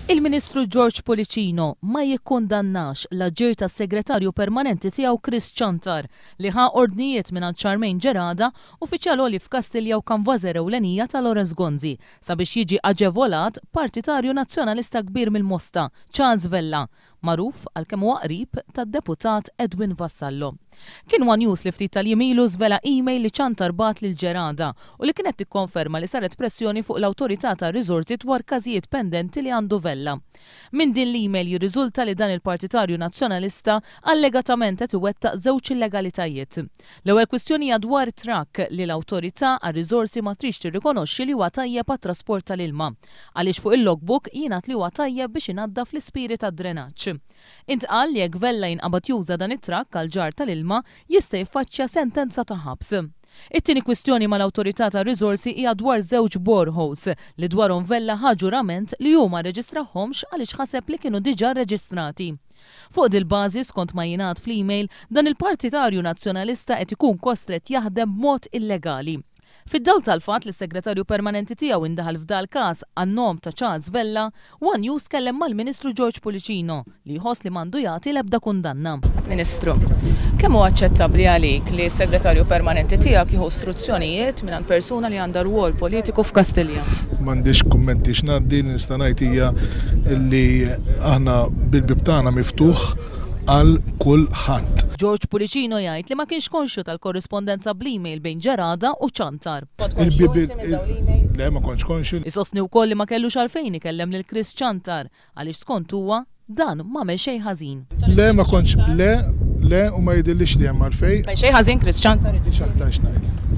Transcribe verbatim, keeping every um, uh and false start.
Il-Ministru George Pullicino ma jikkundannax l-aġir tas-Segretarju Permanenti tiegħu Chris Ciantar li ħa ordnijiet mingħand Charmaine Gerada, uffiċjal għoli f'Kastilja u kanvażer ewlenija ta' Lawrence Gonzi, sabiex jiġi aġevolat partitarju nazzjonalista kbir mill-Mosta, Charles Vella, magħruf għal kemm huwa qrib tad-deputat Edwin Vassallo. Kien One News li ftit tal-jiem ilu żvela email li Ciantar bagħat lil Gerada u li kienet tikkonferma li saret pressjoni fuq l-Awtorità tar-Riżorsi dwar każijiet pendenti li għandu Vella. Minn din l-email jirriżulta li dan il-partitarju nazzjonalista allegatament qed iwettaq żewġ illegalitajiet. L-ewwel kwistjoni hija dwar trakk li l-Awtorità għar-Riżorsi ma tridx tirrikonoxxi li huwa tajjeb għat-trasport tal-ilma, għaliex fuq il-logbook jingħad li huwa tajjeb biex inaddaf l-ispiri tad-drenaġġ. Intqal li jekk Vella jinqabad juża dan it-trakk għal ġarr tal-ilma jista' jiffaċċja sentenza ta' ħabs. It-tieni kwistjoni mal-Awtorità tar-Riżorsi hija dwar żewġ boreholes li dwarhom Vella ħa ġurament li hu ma rreġistrahomx għaliex ħaseb li kienu diġà rreġistrati. Fuq dil-bażi, skont ma jingħad fl-email, dan il-partitarju nazzjonalista qed ikun kostret jaħdem b'mod illegali. Fid-dawl tal-fatt li s-segretarju permanenti tiegħu indaħal f'dal każ għan-nom ta' Charles Vella, One News kellem mal-Ministru George Pullicino li jħoss li m'għandu jagħti l-ebda kundanna. Ministru, kemm huwa aċċettabbli għalik li s-segretarju permanenti tiegħek jieħu istruzzjonijiet minn persuna li għandha rwol politiku f'Kastilja? M'għandix kummenti x'ngħaddi, nista' ngħid hija li aħna bil-bib tagħna miftuħ għal kulħadd. George Pullicino jgħid li ma kienx konxju tal-korrispondenza bl-email bejn Gerada u Ciantar. Il-bib Le, ma kontx konxju. Isostni wkoll li ma kellux għalfejn ikellem lil Chris Ciantar għaliex skont huwa dan m'għamel xejn ħażin. Le, ma kontx, le, le, u ma jidhirlix li hemm għalfejn. Xejn ħażin Chris Ciantar. X'aktarx ngħid.